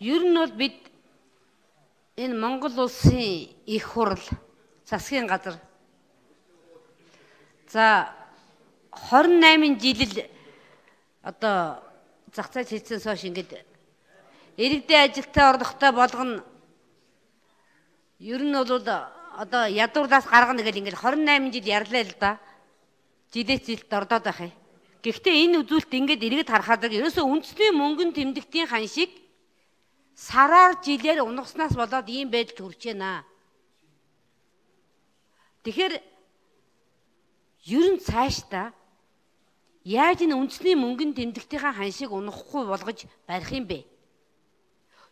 Ер нь бол бид энэ Монгол улсын их хурал засгийн газар за 28 жил одоо зах зээл хийсэн соош ингээд иргэдийн ажилтаа орлоготой болгоно. Ер нь бол одоо ядуурлаас гаргана гэл ингээд 28 жил ярьлаа л да. Жилээс жилд ордоод байх юм. Гэхдээ энэ үзүүлэлт ингээд иргэд харахад ерөөсөө үндэсний мөнгөнд тэмдэгтийн хан шиг сараар жилээр унагснаас болоод ийм байдалд хүрч байна. Тэгэхээр ер нь цаашдаа яаж энэ үндэсний мөнгөнд тэмдэгтийн хан шиг унахгүй болгож барих юм бэ?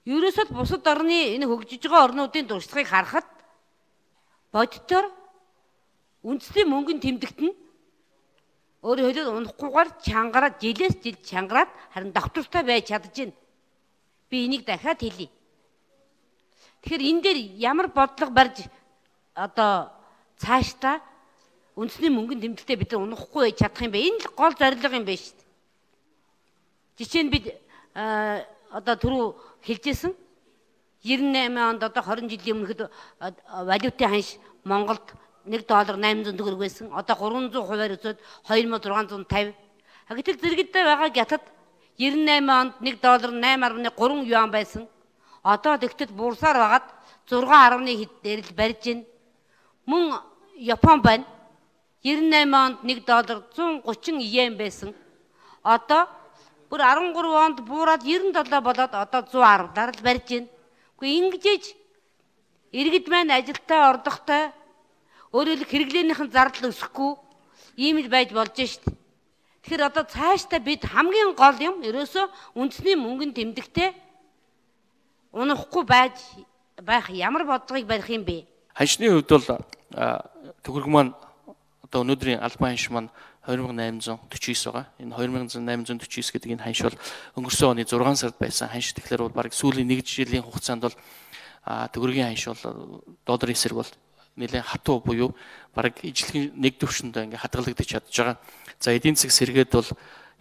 Ерөөсөө бусад орны энэ хөгжиж байгаа орнуудын дурсгалыг харахад боддоор үндэсний мөнгөнд тэмдэгт нь өөрөөр хэлбэл унахгүйгээр чангараад жилээс жил чангараад харин доктортой байж чадж байна. Би энийг дахиад хэлье. Тэгэхээр энэ дээр ямар бодлого барьж одоо цаашдаа үндэсний мөнгөнд тэмдэгтээ бид нар унахгүй байж чадах юм бэ? Энэ л гол зорилго юм байна шүү дээ. Жишээ нь бид одоо түрүү хэлжсэн 98 онд одоо 20 жилийн өмнөхд валютын ханш Монголд $1 800 төгрөг байсан. Одоо 300 хувиар өсөд 2650. Гэтэл зэрэгтэй байгаа гятад 98 онд $1 8.3 юан байсан. Одоо тэгтэл буурсаар байгаад 6.1 хэд дээр л барьж байна. Мөн Япон байна. 98 онд $1 130 йен байсан. Одоо бүр 13 онд буураад 97 болоод одоо 110-аар л барьж байна. Гэхдээ ингэж иргэд маань ажилтаа орлоготой өөрөөр хэрэглээнийхэн зардал өсөхгүй ийм л байж болж штт. Тэгэхээр одоо цаашдаа бид хамгийн гол юм ерөөсөө үндэсний мөнгөнд тэмдэгтээ унахгүй байж байх ямар бодлогыг барих юм бэ? Ханшны хувьд бол төгрөг маань одоо өнөөдрийн албан ханш маань 2849 байгаа. Энэ 2849 гэдэг энэ ханш бол өнгөрсөн оны 6 сард байсан ханш. Тэгэхээр бол бараг сүүлийн 1 жилийн хугацаанд бол төгрөгийн ханш бол долларын эсрэг бол нэлээд хатуу буюу бараг ижлэгийн нэг төвшөндөө ингээ хадгалагдаж чадж байгаа. За эдийн засаг сэргээд бол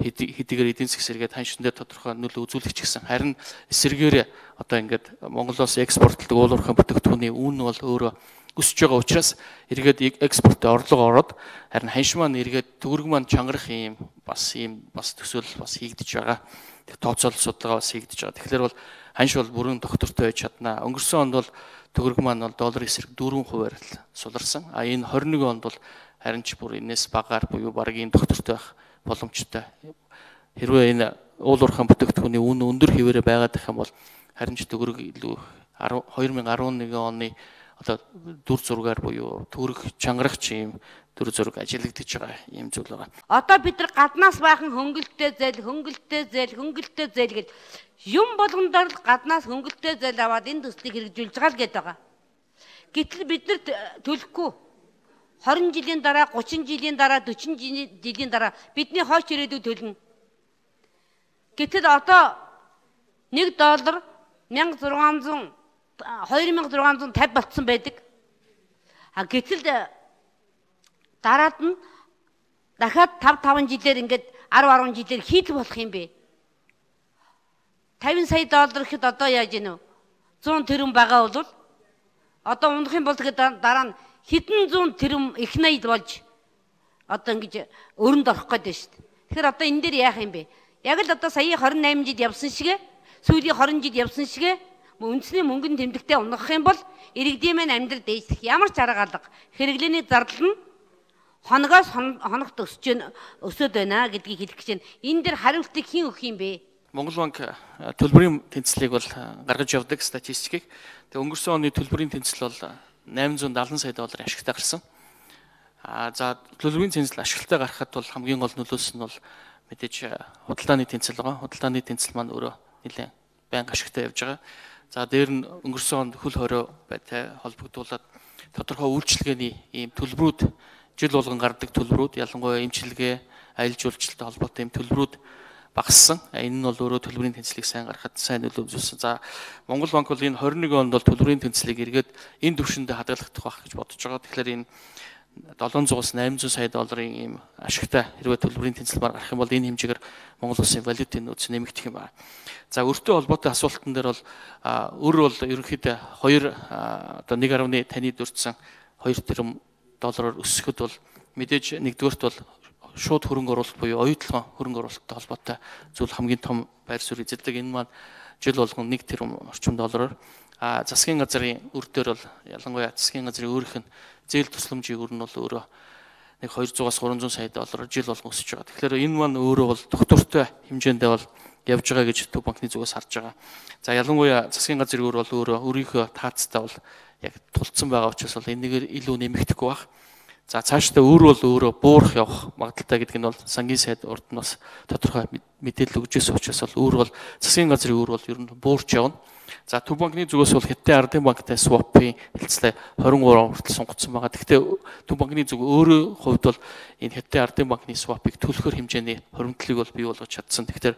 хэдийгээр эдийн засаг сэргээд ханшин дээр тодорхой нөлөө үзүүлэх ч гэсэн харин эсрэгээр одоо ингээд Монголоос экспортлдог уулуурхай бүтээгдэхүүний үн бол өөрөө өсөж байгаа учраас эргээд экспортт орлого ороод харин ханш маань эргээд төгрөг маань чангарах ийм бас төсөөлөл бас хийгдэж байгаа. Тэг тооцоолол судалгаа бас хийгдэж байгаа. Тэгэхээр бол ханш бол бүрэн доктортой байж чаднаа. Өнгөрсөн онд бол төгрөг маань бол долларын эсрэг 4% л суларсан. Энэ 21 онд бол харин ч бүр энэс багаар буюу бараг ийм доктортой байх боломжтой. Хэрвээ энэ уулуурхай бүтээгдэхүүний үн өндөр хэвээрээ байгаад байх юм бол харин ч төгрөг илүү 2011 оны одоо дүр зургаар буюу төгрөг чангарах юм дүр зураг ажиглагдаж байгаа юм зүйл байгаа. Одоо бид нар гаднаас байхан хөнгөлөлттэй зээл гэж юм болгондор л гаднаас хөнгөлөлттэй зээл аваад энэ төслийг хэрэгжүүлж байгаа л гээд байгаа. Гэтэл бид нар төлөхгүй 20 жилийн дараа, 30 жилийн дараа, 40 жилийн дараа бидний хойш ирээдүйд төлнө. Гэтэл одоо $1 2650 болцсон байдаг. Гэтэл дараад нь дахиад 5 жилээр ингээд 10 жилээр хийх болох юм бэ? $50 сая гэхэд одоо яаж гинэ вэ? 100 тэрбум байгаа бол одоо унах юм бол тэгээд дараа нь хэдэн зуун тэрбум их найд болж одоо ингэж өрөнд орох гээд байна шүү дээ. Тэгэхээр одоо энэ дээр яах юм бэ? Яг л одоо сая 28 жил явсан шигэ сүүлийн 20 жил явсан шигэ үндэсний мөнгөнд тэмдэгтээ унах юм бол иргэдийн маань амьдрал дээшлэх ямар ч арга алга хэрэглээний зардал нь хоногоос хоногт өсөд байна гэдгийг хэлэх гэж байна. Энэ дээр хариултыг хэн өгөх юм бэ? Монгол банк төлбөрийн тэнцлийг бол гаргаж явдаг статистикийг. Тэгээ өнгөрсөн оны төлбөрийн тэнцэл бол $870 сая ашигтай гарсан. За төлбөрийн тэнцэл ашигтай гарахад бол хамгийн гол нөлөөс нь бол мэдээж худалдааны тэнцэл байгаа. Худалдааны тэнцэл маань өөрөө нэлээд байнга ашигтай явж байгаа. За дээр нь өнгөрсөн онд хөл хорой байтай холбогдуулаад тодорхой үйлчилгээний ийм төлбөрүүд жил болгон гардаг төлбөрүүд ялангуяа эмчилгээ, аялал жуулчлалтай холбоотой ийм төлбөрүүд багассан. Энэ нь бол өөрөө төлбөрийн тэнцлийг сайн гаргахад сайн нөлөө үзүүлсэн. За Монгол банк бол энэ 21 онд бол төлбөрийн тэнцлийг эргээд энэ түвшиндээ хадгалагдах байх гэж бодож байгаа. Тэгэхээр энэ 700-аас 800 сая долларын ийм ашигтай хэрвээ төлбөрийн тэнцэлмээр гарах юм бол энэ хэмжээгээр Монгол улсын валютын нөөц нэмэгдэх юм байна. За өртөө холбоотой асуултан дээр бол бол ерөнхийдөө 1.5 таны дурдсан 2 тэрбум доллараар өсөхөд бол мэдээж нэгдүгээрт бол шууд хөрөнгө оруулалт буюу оюутлогын хөрөнгө оруулалттай холбоотой зүйл хамгийн том байр суурь эзэлдэг. Энэ маань жил болгон 1 тэрбум орчим доллараар засгийн газрын үр дээр бол ялангуяа засгийн газрын өөрийнх нь зээл тусламжийн үр нь бол өөрөө нэг 200-аас 300 сая доллараар жил болгон өсөж байгаа. Тэгэхээр энэ маань өөрөө бол доктортой хэмжээндээ бол явж байгаа гэж Төв банкны зүгээс харж байгаа. За ялангуяа засгийн газрын үр бол өөрөө өөрийнхөө таацтай бол яг тулцсан байгаа учраас бол энэгээр илүү нэмэгдэхгүй баг. За цаашдаа өөр бол өөрөө буурах явах магадaltaй гэдэг нь бол сангийн сайд урд нь бас тодорхой мэдээлэл өгч байсан учраас бол өөр бол засгийн газрын үр бол ер нь буурч явна. За Төв банкны зүгээс бол Хятадын ардын банктай swap-ийн хэлцлээ 23 хүртэл сунгацсан байгаа. Гэхдээ Төв банкны зүг өөрөө хувьд бол энэ Хятадын ардын банкны swap-ыг төлөхөр хэмжээний хоримтлыг бол бий болгож чадсан. Тэгэхээр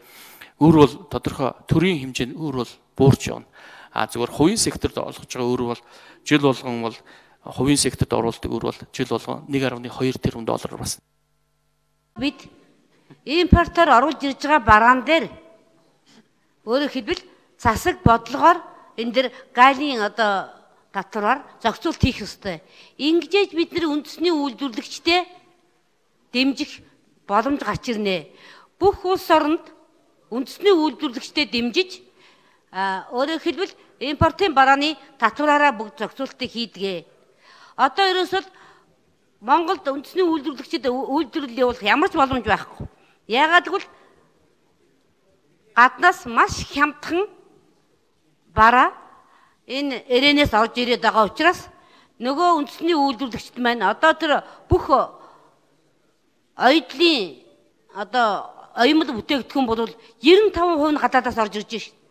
өөр бол тодорхой төрийн хэмжээнд өөр бол буурч явна. Зүгээр хувийн секторт олгож байгаа өөр бол жил болгон бол хувийн секторт оруулдаг өөр бол жил болгон 1.2 тэрбум доллараар бас. Бид импортоор оруулж ирж байгаа бараан дээр өөрөөр хэлбэл засаг бодлогоор энэ дэр галийн татвараар зохицуулт хийх ёстой. Ингэж бид нэр үндэсний үйлдвэрлэгчтэй дэмжих боломж гарч ирнэ. Бүх улс оронд үндэсний үйлдвэрлэгчтэй дэмжиж өөрөөр хэлбэл импортын барааны татвараараа бүгд зохицуултыг хийдгээ. Одоо ерөөсөл Монголд үндэсний үйлдвэрлэгчид үйлдвэрлэл явуулах ямар ч боломж байхгүй. Яагаад гэвэл гаднаас маш хямдхан бараа энэ РН-ээс орж ирээд байгаа учраас нөгөө үндэсний үйлдвэрлэгчид маань одоо тэр бүх оюутлын оюумл бүтээгдэхүүн бол 95% нь гадаадаас орж ирж байна.